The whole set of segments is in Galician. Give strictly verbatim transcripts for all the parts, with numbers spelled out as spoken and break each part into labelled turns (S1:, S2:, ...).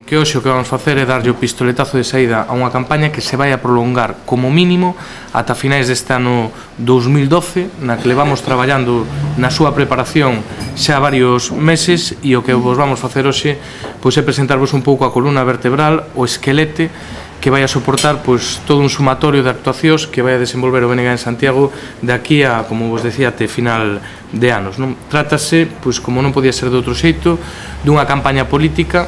S1: Que hoxe o que vamos facer é darlle o pistoletazo de saída a unha campaña que se vai a prolongar como mínimo ata finais deste ano dous mil doce, na que levamos traballando na súa preparación xa varios meses, e o que vos vamos facer hoxe pois é presentarvos un pouco a columna vertebral, o esquelete que vai a soportar pois todo un sumatorio de actuacións que vai a desenvolver o B N G en Santiago de aquí a, como vos decía, até final de anos, non? Trátase, pois como non podía ser de outro xeito, dunha campaña política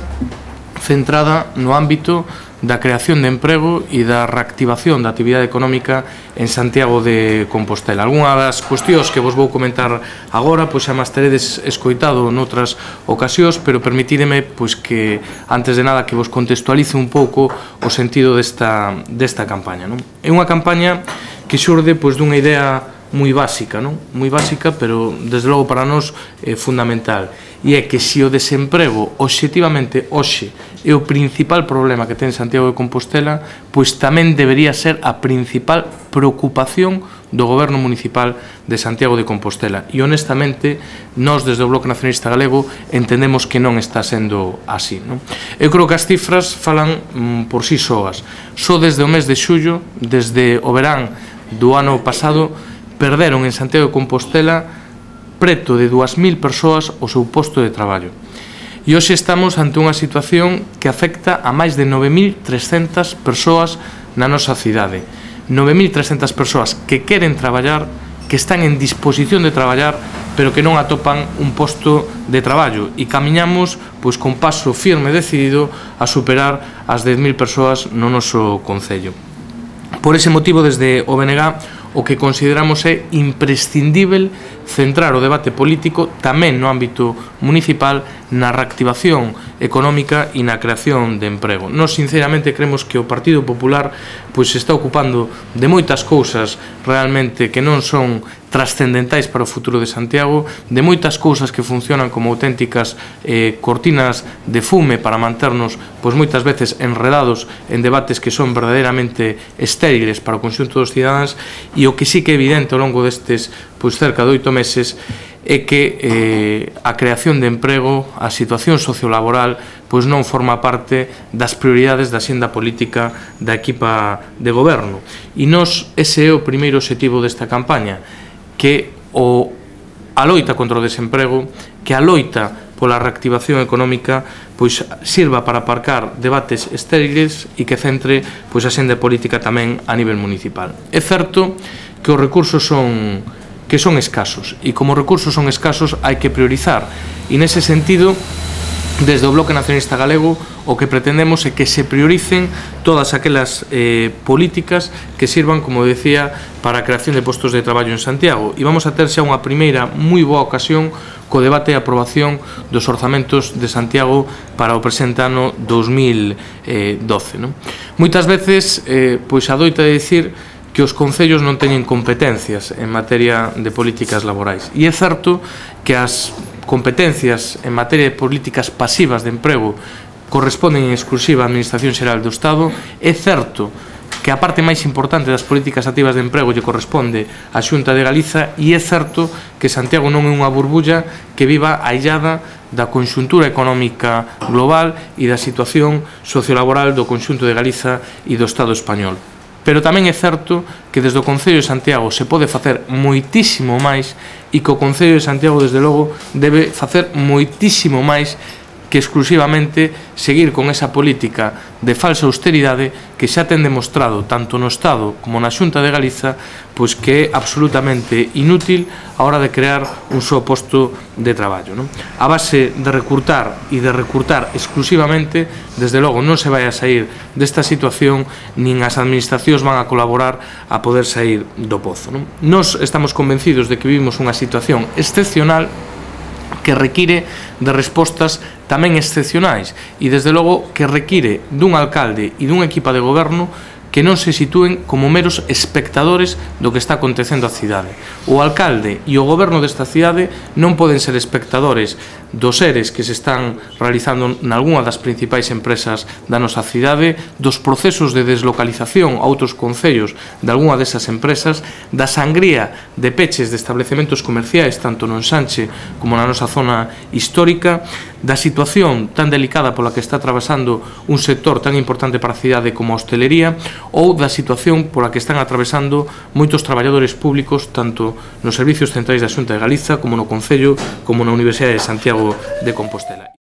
S1: centrada no ámbito da creación de emprego e da reactivación da actividade económica en Santiago de Compostela. Algunha das cuestións que vos vou comentar agora pois xa máis teredes escoitado noutras ocasións, pero permitídeme pois que, antes de nada, que vos contextualice un pouco o sentido desta, desta campaña, non? É unha campaña que xurde pois dunha idea moi básica, non? Moi básica, pero desde logo para nós é fundamental, e é que se o desemprego obxectivamente hoxe é o principal problema que ten Santiago de Compostela, pois tamén debería ser a principal preocupación do Goberno Municipal de Santiago de Compostela, e honestamente nós desde o Bloque Nacionalista Galego entendemos que non está sendo así, non? Eu creo que as cifras falan mm, por si soas. Só desde o mes de xullo, desde o verán do ano pasado, perderon en Santiago de Compostela preto de dúas mil persoas o seu posto de traballo. E hoxe estamos ante unha situación que afecta a máis de nove mil trescentas persoas na nosa cidade. nove mil trescentas persoas que queren traballar, que están en disposición de traballar, pero que non atopan un posto de traballo, e camiñamos pois con paso firme e decidido a superar as dez mil persoas no noso concello. Por ese motivo, desde o B N G, o que consideramos é imprescindível centrar o debate político tamén no ámbito municipal na reactivación económica e na creación de emprego. Nós sinceramente creemos que o Partido Popular pois se está ocupando de moitas cousas realmente que non son trascendentais para o futuro de Santiago, de moitas cousas que funcionan como auténticas eh, cortinas de fume para manternos pois moitas veces enredados en debates que son verdadeiramente estériles para o conxunto dos cidadáns, e o que sí que é evidente ao longo destes pois cerca de oito meses é que eh, a creación de emprego, a situación sociolaboral pois non forma parte das prioridades da xenda política da equipa de goberno, e nós ese é o primeiro obxectivo desta campaña, que o, a loita contra o desemprego, que a loita pola reactivación económica pois sirva para aparcar debates estériles e que centre pois a xenda política tamén a nivel municipal. É certo que os recursos son que son escasos, e como recursos son escasos hai que priorizar, e nese sentido desde o Bloque Nacionalista Galego o que pretendemos é que se prioricen todas aquelas eh, políticas que sirvan, como decía, para a creación de postos de traballo en Santiago, e vamos a ter xa unha primeira moi boa ocasión co debate e aprobación dos orzamentos de Santiago para o presente ano dous mil doce, non? Moitas veces eh, pois adoita de dicir que os concellos non teñen competencias en materia de políticas laborais, e é certo que as competencias en materia de políticas pasivas de emprego corresponden en exclusiva á Administración Xeral do Estado. É certo que a parte máis importante das políticas activas de emprego lle corresponde á Xunta de Galiza, e é certo que Santiago non é unha burbulla que viva aillada da conxuntura económica global e da situación sociolaboral do conxunto de Galiza e do Estado español. Pero tamén é certo que desde o Concello de Santiago se pode facer moitísimo máis, e que o Concello de Santiago, desde logo, debe facer moitísimo máis que exclusivamente seguir con esa política de falsa austeridade que xa ten demostrado tanto no Estado como na Xunta de Galiza pois que é absolutamente inútil a hora de crear un só posto de traballo, non? A base de recrutar e de recrutar exclusivamente, desde logo non se vai a sair desta situación, nin as administracións van a colaborar a poder sair do pozo, non? Nós estamos convencidos de que vivimos unha situación excepcional que require de respostas tamén excepcionais, e desde logo que require dun alcalde e dunha equipa de goberno que non se sitúen como meros espectadores do que está acontecendo á cidade. O alcalde e o goberno desta cidade non poden ser espectadores dos eres que se están realizando nalgúna das principais empresas da nosa cidade, dos procesos de deslocalización a outros concellos de algunha desas empresas, da sangría de peches de establecementos comerciais tanto no Ensanche como na nosa zona histórica, da situación tan delicada pola que está atravesando un sector tan importante para a cidade como a hostelería, ou da situación pola que están atravesando moitos traballadores públicos tanto nos servicios centrais da Xunta de Galiza como no Concello como na Universidade de Santiago de Compostela.